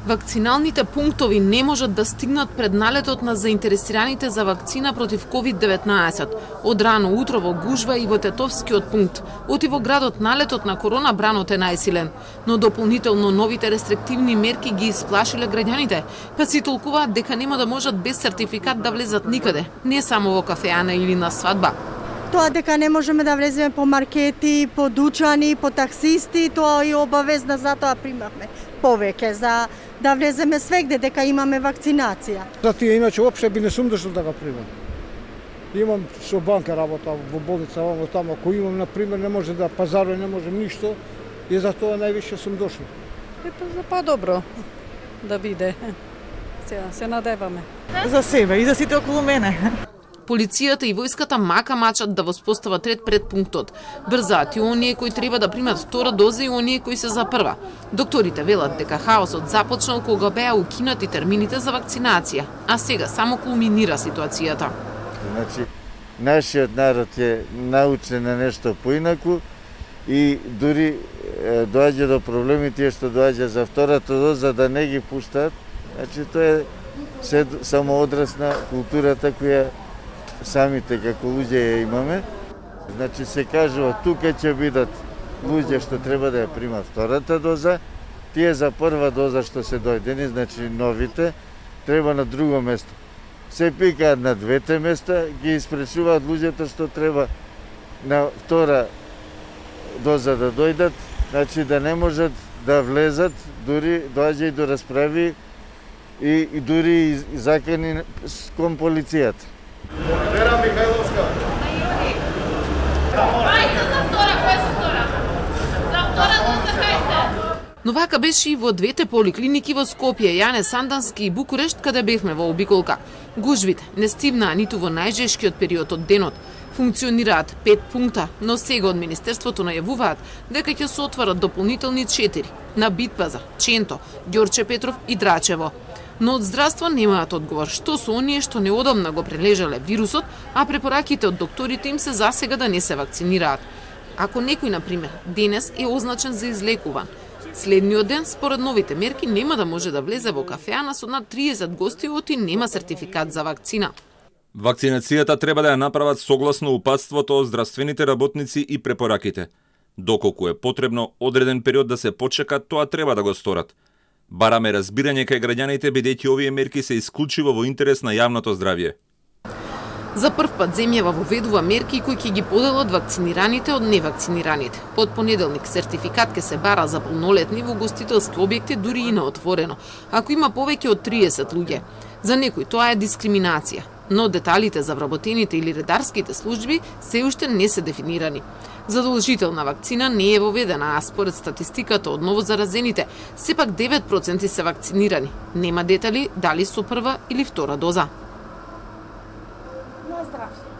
Вакциналните пунктови не можат да стигнат пред налетот на заинтересираните за вакцина против COVID-19. Од рано утро во гужва и во Тетовскиот пункт. Оти во градот налетот на корона бранот е најсилен, но дополнително новите рестриктивни мерки ги исплашиле граѓаните, па си толкуваат дека нема да можат без сертификат да влезат никаде, не само во кафеана или на свадба. Тоа дека не можеме да влеземе по маркети, по дучани, по таксисти, тоа и обавезна, затоа примавме повеќе за да влеземе свегде дека имаме вакцинација. За тие иначе воопшто би не сум дошол да го примам. Имам со банка работа во болница, во таму, ако имам на пример не може да пазарувам, не можем ништо, и за тоа највише сум дошол. За по-добро да биде. Се надеваме. За себе и за сите околу мене. Полицијата и војската мака мачат да воспостават ред пред пунктот. Брзаат и оние кои треба да примат втора доза и оние кои се за прва. Докторите велат дека хаосот започнал кога беа укинати термините за вакцинација, а сега само кулминира ситуацијата. Значи, нашиот народ е научен на нешто поинаку и дури доаѓа до проблеми тие што доаѓа за втората доза да не ги пуштаат. Значи, тоа е само одраз на културата која самите како луѓе ја имаме. Значи се кажува тука ќе бидат луѓе што треба да ја примат втората доза, тие за прва доза што се дојдени, значи новите, треба на друго место. Се пикаат на двете места, ги испречуваат луѓето што треба на втора доза да дојдат, значи да не можат да влезат, дури доаѓа и до расправи и дури и закани кон полицијата. Вера Михајловска. Ајде за втора, која се втора? За втора доза кај се? Но вака беше и во двете поликлиники во Скопје, Јане Сандански и Букурешт, каде бевме во обиколка. Гужвите не стивнаа ниту во најжешкиот период од денот. Функционираат 5 пункта, но сега од Министерството најавуваат дека ќе се отварат дополнителни 4 на Битпазар, Ченто, Ѓорче Петров и Драчево. Но од здравство немаат одговор што со оние што неодамна го прележале вирусот, а препораките од докторите им се засега да не се вакцинираат. Ако некој, например, денес е означен за излекуван, следниот ден, според новите мерки, нема да може да влезе во кафеана со над 30 гости оти нема сертификат за вакцина. Вакцинацијата треба да ја направат согласно упатството од здравствените работници и препораките. Доколку е потребно одреден период да се почека, тоа треба да го сторат. Бараме разбирање кај граѓаните, бидејќи овие мерки се исклучиво во интерес на јавното здравје. За прв пат земјава воведува мерки кои ќе ги поделат вакцинираните од невакцинираните. Од понеделник сертификат ќе се бара за полнолетни во гостителски објекти, дури и на отворено, ако има повеќе од 30 луѓе. За некој тоа е дискриминација, но деталите за вработените или редарските служби се уште не се дефинирани. Задолжителна вакцина не е воведена, а според статистиката од новозаразените, сепак 9% се вакцинирани. Нема детали дали со прва или втора доза. На здравје.